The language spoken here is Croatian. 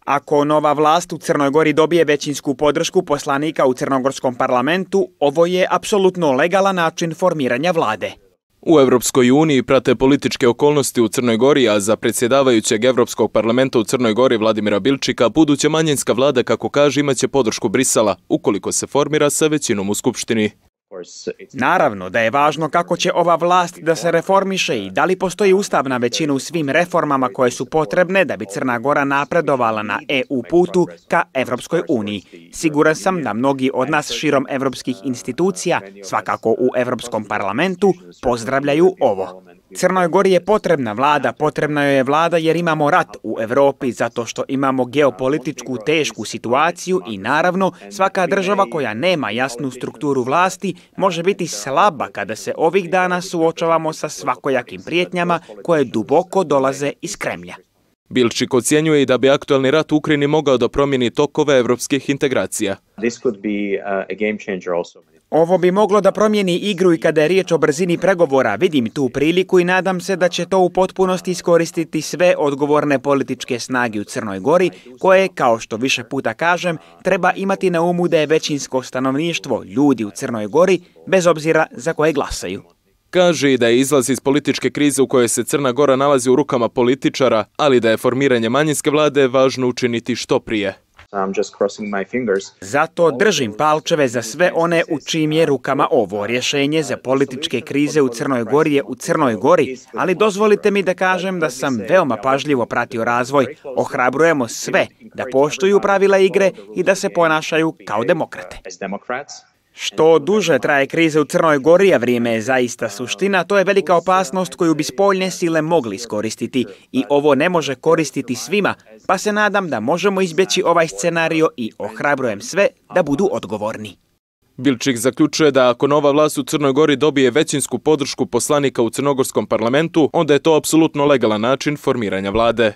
Ako nova vlast u Crnoj Gori dobije većinsku podršku poslanika u crnogorskom parlamentu, ovo je apsolutno legalan način formiranja vlade. U Evropskoj uniji prate političke okolnosti u Crnoj Gori, a za predsjedavajućeg Evropskog parlamenta u Crnoj Gori Vladimira Bilčika buduća manjinska vlada, kako kaže, imaće podršku Brisela ukoliko se formira sa većinom u Skupštini. Naravno da je važno kako će ova vlast da se reformiše i da li postoji ustavna većina u svim reformama koje su potrebne da bi Crna Gora napredovala na EU putu ka Evropskoj uniji. Siguran sam da mnogi od nas širom evropskih institucija, svakako u Evropskom parlamentu, pozdravljaju ovo. Crnoj Gori je potrebna joj je vlada jer imamo rat u Evropi, zato što imamo geopolitičku tešku situaciju i naravno svaka država koja nema jasnu strukturu vlasti može biti slaba kada se ovih dana suočavamo sa svakojakim prijetnjama koje duboko dolaze iz Kremlja. Bilčik ocjenjuje i da bi aktualni rat u Ukrajini mogao da promijeni tokove evropskih integracija. Ovo bi moglo da promijeni igru i kada je riječ o brzini pregovora. Vidim tu priliku i nadam se da će to u potpunosti iskoristiti sve odgovorne političke snage u Crnoj Gori, koje, kao što više puta kažem, treba imati na umu da je većinsko stanovništvo, ljudi u Crnoj Gori, bez obzira za koje glasaju. Kaže i da je izlaz iz političke krize u kojoj se Crna Gora nalazi u rukama političara, ali da je formiranje manjinske vlade važno učiniti što prije. Zato držim palčeve za sve one u čijim je rukama ovo. Rješenje za političke krize u Crnoj Gori je u Crnoj Gori, ali dozvolite mi da kažem da sam veoma pažljivo pratio razvoj. Ohrabrujemo sve da poštuju pravila igre i da se ponašaju kao demokrate. Što duže traje kriza u Crnoj Gori, a vrijeme je zaista suština, to je velika opasnost koju bi spoljne sile mogli iskoristiti. I ovo ne može koristiti svima, pa se nadam da možemo izbjeći ovaj scenario i ohrabrujem sve da budu odgovorni. Bilčik zaključuje da ako nova vlast u Crnoj Gori dobije većinsku podršku poslanika u crnogorskom parlamentu, onda je to apsolutno legalan način formiranja vlade.